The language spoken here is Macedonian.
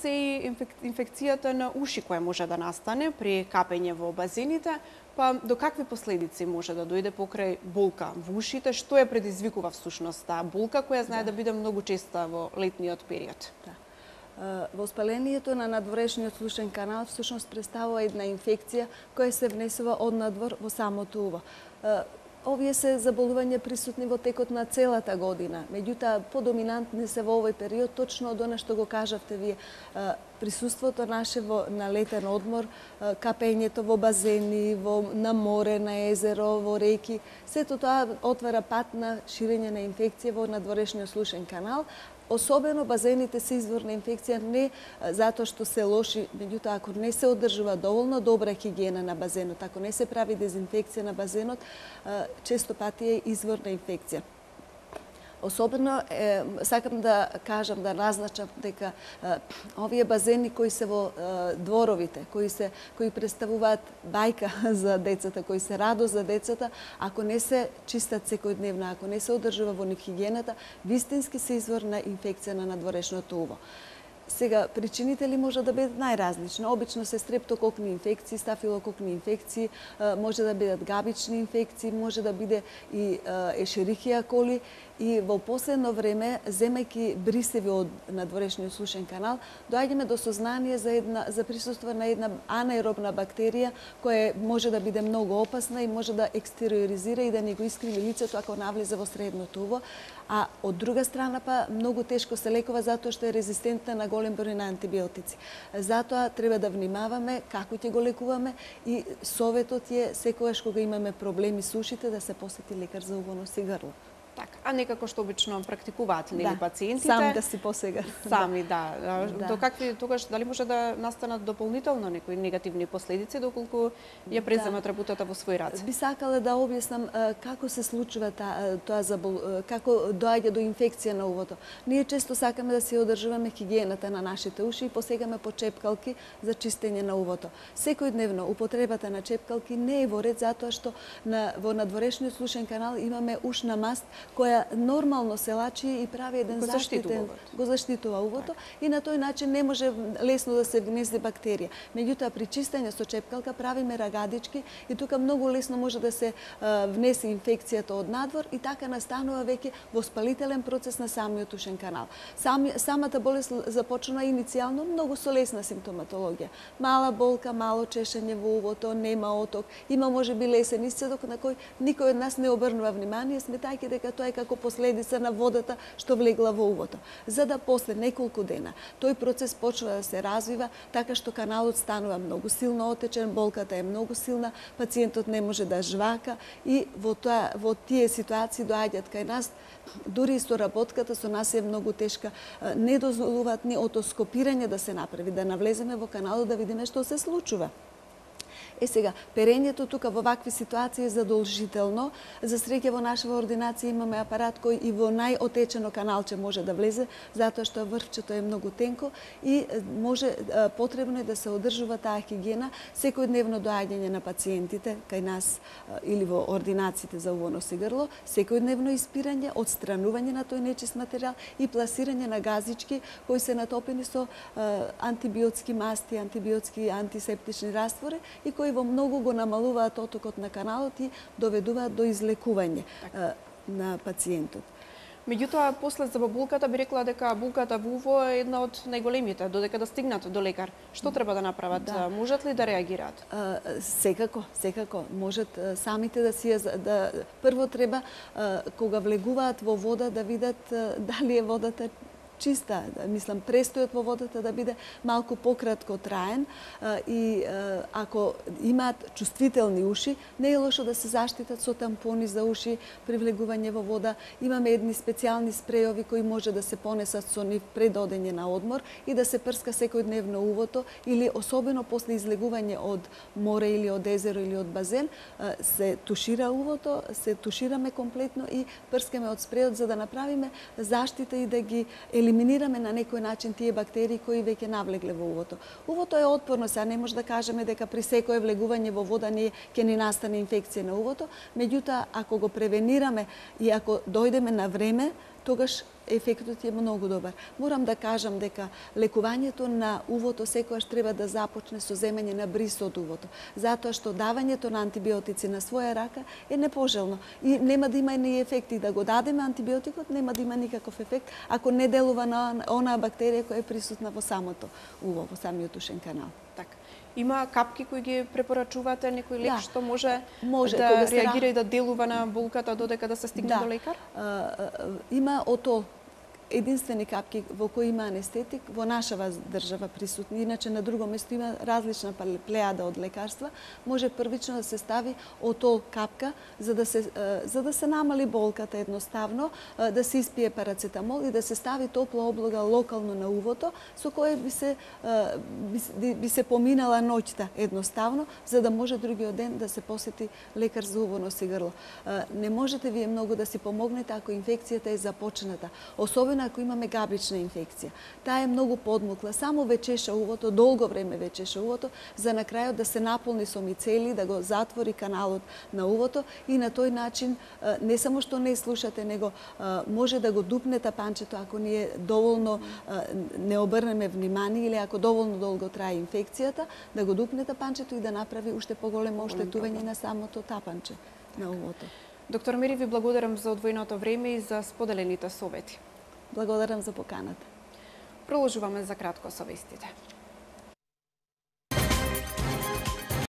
се и инфекцијата на уши која може да настане при капење во базените, па до какви последици може да дојде покрај болка во ушите? Што ја предизвикува всушност таа болка која знае да биде многу честа во летниот период? Воспалението на надворешниот слушен канал всушност представува една инфекција која се внесува од надвор во самото уво. Овие се заболувања присутни во текот на целата година, меѓутоа подоминантни се во овој период, точно од она што го кажавте вие, присуството наше на летен одмор, капењето во базени, на море, на езеро, во реки, сето тоа отвара пат на ширење на инфекција во надворешниот слушен канал. Особено базените се извор на инфекција не затоа што се лоши, меѓутоа ако не се одржува доволно добра хигиена на базенот, ако не се прави дезинфекција на базенот, често пати е извор на инфекција. Особено сакам да кажам, да назначам дека овие базени кои се во дворовите, кои представуваат бајка за децата, кои се радост за децата, ако не се чистат секојдневно, ако не се одржува во нив хигиената, вистински се извор на инфекција на надворешното уво. Сега, причините ли може да бидат најразлични? Обично се стрептококни инфекции, стафилококни инфекции, може да бидат габични инфекции, може да биде и ешерихија коли. И во последно време, земајќи брисеви од надворешниот слушен канал, доаѓаме до сознание за присуство на една анаеробна бактерија која може да биде многу опасна и може да екстериоризира и да ни го искриви лицето ако навлезе во средното уво, а од друга страна па многу тешко се лекува затоа што е резистентна на голем број на антибиотици. Затоа треба да внимаваме како ќе го лекуваме и советот е секогаш кога имаме проблеми со ушите да се посети лекар за уво, нос и грло. Така, а некако што обично практикуваат нели пациентите? Сами да си посега. Сами, да. До какви тогаш дали може да настанат дополнително некои негативни последици доколку ја преземат работата во свој раце? Би сакала да објаснам како се случува како доаѓа до инфекција на увото. Ние често сакаме да си одржуваме хигиената на нашите уши и посегаме по чепкалки за чистење на увото. Секојдневно употребата на чепкалки не е во ред затоа што во надворешниот слушен канал имаме ушна маст која нормално се лачи и прави еден заштитен, го заштитува увото и на тој начин не може лесно да се внесе бактерија. Меѓутоа при чистење со чепкалка правиме рагадички и тука многу лесно може да се внесе инфекцијата од надвор и така настанува веќе воспалителен процес на самиот ушен канал. Самата болест започна иницијално многу со лесна симптоматологија. Мала болка, мало чешење во увото, нема оток, има можеби лесен исцедок на кој никој од нас не обрнува внимание, сметајќи дека тоа е како последица на водата што влегла во увото. За да после неколку дена тој процес почва да се развива, така што каналот станува многу силно отечен, болката е многу силна, пациентот не може да жвака и во тие ситуации доаѓаат кај нас, дури и со работката со нас е многу тешка, не дозволуваат ни отоскопирање да се направи, да навлеземе во каналот да видиме што се случува. Сега, перењето тука во вакви ситуации е задолжително. За среќа во нашава ординација имаме апарат кој и во најотечено каналче може да влезе, затоа што врвчето е многу тенко и потребно е да се одржува таа хигиена, секојдневно доаѓање на пациентите кај нас или во ординациите за уво, нос и грло, секојдневно испирање, отстранување на тој нечист материјал и пласирање на газички кои се натопени со антибиотски масти, антибиотски антисептични раствори и кои во многу го намалуваат отокот на каналот и доведуваат до излекување на пациентот. Меѓутоа, после за болката би рекла дека болката во уво е една од најголемите, додека да стигнат до лекар. Што треба да направат? Можат ли да реагираат? Секако. Можат самите да си прво треба кога влегуваат во вода да видат дали е водата чиста, мислам, престојот во водата да биде малку пократко траен и ако имаат чувствителни уши, не е лошо да се заштитат со тампони за уши при влегување во вода. Имаме едни специјални спрејови кои може да се понесат со нив пред одење на одмор и да се прска секојдневно увото или особено после излегување од море или од езеро или од базен, се тушира увото, се тушираме комплетно и прскаме од спрејот за да направиме заштита и да ги елиминираме на некој начин тие бактерии кои веќе навлегле во увото. Увото е отпорно, сега не може да кажеме дека при секое влегување во вода ќе ни настане инфекција на увото, меѓутоа ако го превенираме и ако дојдеме на време, тогаш ефектот е многу добар. Морам да кажам дека лекувањето на увото секогаш треба да започне со земање на бриз од увото, затоа што давањето на антибиотици на своја рака е непожелно и нема да има ни ефекти. Да го дадеме антибиотикот, нема да има никаков ефект ако не делува на онаа бактерија која е присутна во самото уво, во самиот ушен канал. Така. Има капки кои ги препорачувате, некој лек што може кога да реагира и да делува на болката додека да се стигне до лекар? Има отол единствени капки во кои има анестетик во нашава држава присутни. Иначе на друго место има различна плејада од лекарства. Може првично да се стави отол капка за да се намали болката едноставно, да се испие парацетамол и да се стави топла облога локално на увото со кое би се поминала ноќта едноставно за да може другиот ден да се посети лекар за уво, нос и грло. Не можете вие многу да си помогнете ако инфекцијата е започната, особено ако имаме габрична инфекција. Таа е многу подмукла, само вечеша увото, долго време вечеша увото, за на крајот да се наполни со мицели, да го затвори каналот на увото и на тој начин не само што не слушате, него може да го дупне тапанчето ако ние доволно не обрнеме внимание или ако доволно долго трае инфекцијата, да го дупне тапанчето и да направи уште поголемо оштетување на самото тапанче на увото. Доктор Мери, ви благодарам за одвоеното време и за споделените совети. Благодарам за поканата. Продолжуваме за кратко со вестите.